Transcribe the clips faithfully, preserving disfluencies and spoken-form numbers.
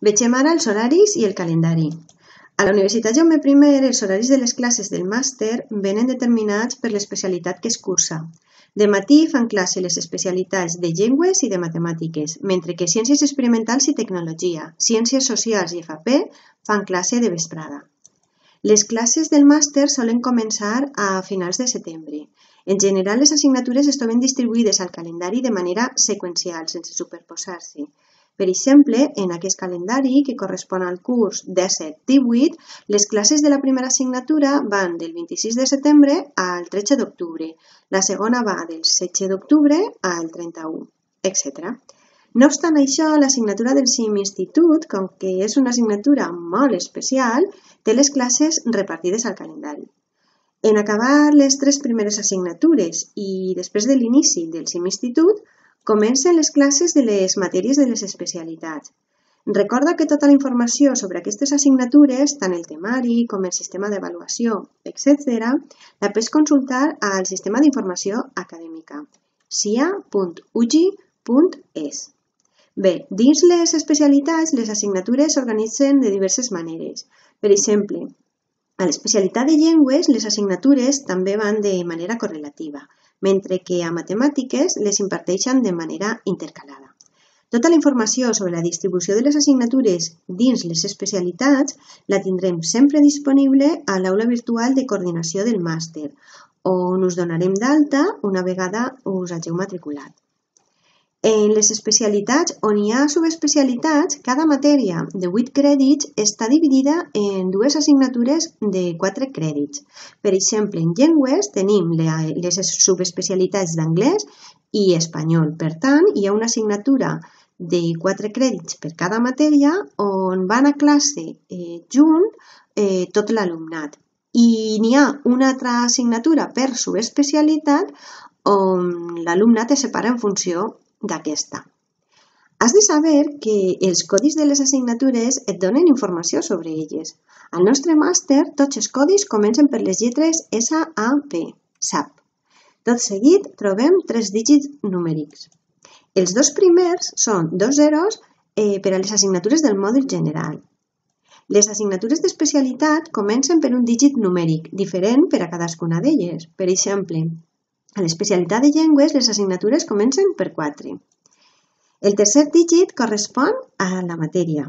Vegem ara els horaris i el calendari. A la Universitat Jaume primer, els horaris de les classes del màster venen determinats per l'especialitat que es cursa. De matí fan classe les especialitats de llengües i de matemàtiques, mentre que ciències experimentals i tecnologia, ciències socials i F A P fan classe de vesprada. Les classes del màster solen començar a finals de setembre. En general, les assignatures es troben distribuïdes al calendari de manera seqüencial, sense superposar-se. Per exemple, en aquest calendari, que correspon al curs disset divuit, les classes de la primera assignatura van del vint-i-sis de setembre al tretze d'octubre, la segona va del setze d'octubre al trenta-u, etcètera. No obstant això, l'assignatura del C I M Institut, com que és una assignatura molt especial, té les classes repartides al calendari. En acabar les tres primeres assignatures i després de l'inici del C I M Institut, comencen les classes de les matèries de les especialitats. Recorda que tota la informació sobre aquestes assignatures, tant el temari com el sistema d'avaluació, etcètera, la pots consultar al Sistema d'Informació Acadèmica, sia punt u g punt es. Bé, dins les especialitats, les assignatures s'organitzen de diverses maneres. Per exemple, a l'especialitat de llengües, les assignatures també van de manera correlativa, mentre que a matemàtiques les imparteixen de manera intercalada. Tota la informació sobre la distribució de les assignatures dins les especialitats la tindrem sempre disponible a l'aula virtual de coordinació del màster, on us donarem d'alta una vegada us hàgiu matriculat. En les especialitats on hi ha subespecialitats, cada matèria de vuit crèdits està dividida en dues assignatures de quatre crèdits. Per exemple, en llengües tenim les subespecialitats d'anglès i espanyol. Per tant, hi ha una assignatura de quatre crèdits per cada matèria on van a classe eh, junt eh, tot l'alumnat. I n'hi ha una altra assignatura per subespecialitat on l'alumnat es separa en funció d'aquesta. Has de saber que els codis de les assignatures et donen informació sobre elles. Al nostre màster, tots els codis comencen per les lletres S A P, S A P. Tot seguit trobem tres dígits numèrics. Els dos primers són dos zeros eh, per a les assignatures del mòdul general. Les assignatures d'especialitat comencen per un dígit numèric, diferent per a cadascuna d'elles. Per exemple, a l'especialitat de llengües, les assignatures comencen per quatre. El tercer dígit correspon a la matèria.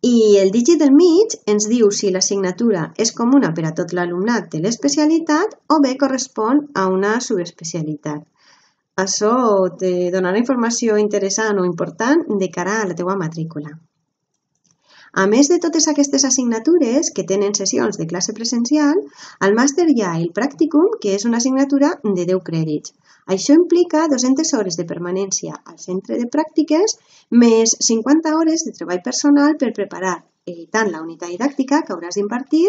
I el dígit del mig ens diu si l'assignatura és comuna per a tot l'alumnat de l'especialitat o bé correspon a una subespecialitat. Això te donarà informació interessant o important de cara a la teva matrícula. A més de totes aquestes assignatures que tenen sessions de classe presencial, al màster hi ha el pràcticum, que és una assignatura de deu crèdits. Això implica dues-centes hores de permanència al centre de pràctiques més cinquanta hores de treball personal per preparar eh, tant la unitat didàctica que hauràs d'impartir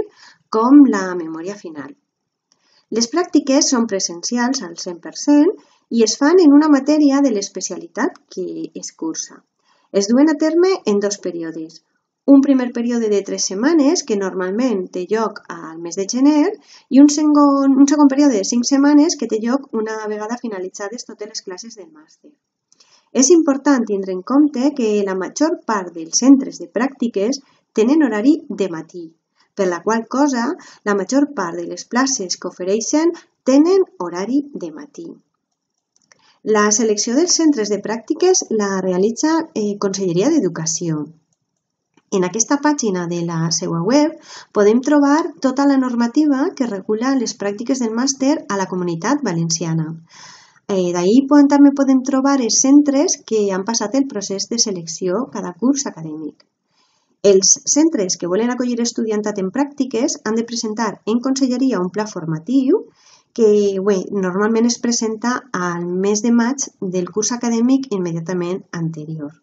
com la memòria final. Les pràctiques són presencials al cent per cent i es fan en una matèria de l'especialitat que es cursa. Es duen a terme en dos períodes. Un primer període de tres setmanes, que normalment té lloc al mes de gener, i un segon, un segon període de cinc setmanes que té lloc una vegada finalitzades totes les classes del màster. És important tindre en compte que la major part dels centres de pràctiques tenen horari de matí, per la qual cosa la major part de les places que ofereixen tenen horari de matí. La selecció dels centres de pràctiques la realitza eh, Conselleria d'Educació. En aquesta pàgina de la seva web podem trobar tota la normativa que regula les pràctiques del màster a la Comunitat Valenciana. Eh, D'ahir també podem trobar els centres que han passat el procés de selecció cada curs acadèmic. Els centres que volen acollir estudiantat en pràctiques han de presentar en conselleria un pla formatiu que bé, normalment es presenta al mes de maig del curs acadèmic immediatament anterior.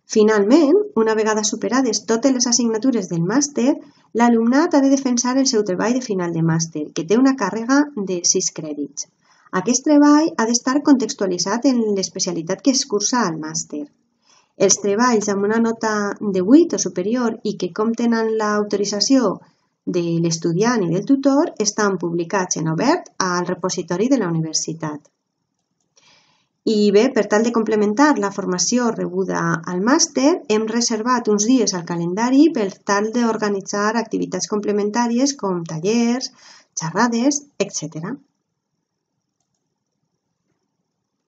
Finalment, una vegada superades totes les assignatures del màster, l'alumnat ha de defensar el seu treball de final de màster, que té una càrrega de sis crèdits. Aquest treball ha d'estar contextualitzat en l'especialitat que es cursa al màster. Els treballs amb una nota de vuit o superior i que compten amb l'autorització de l'estudiant i del tutor estan publicats en obert al repositori de la universitat. I bé, per tal de complementar la formació rebuda al màster, hem reservat uns dies al calendari per tal d'organitzar activitats complementàries com tallers, xerrades, etcètera.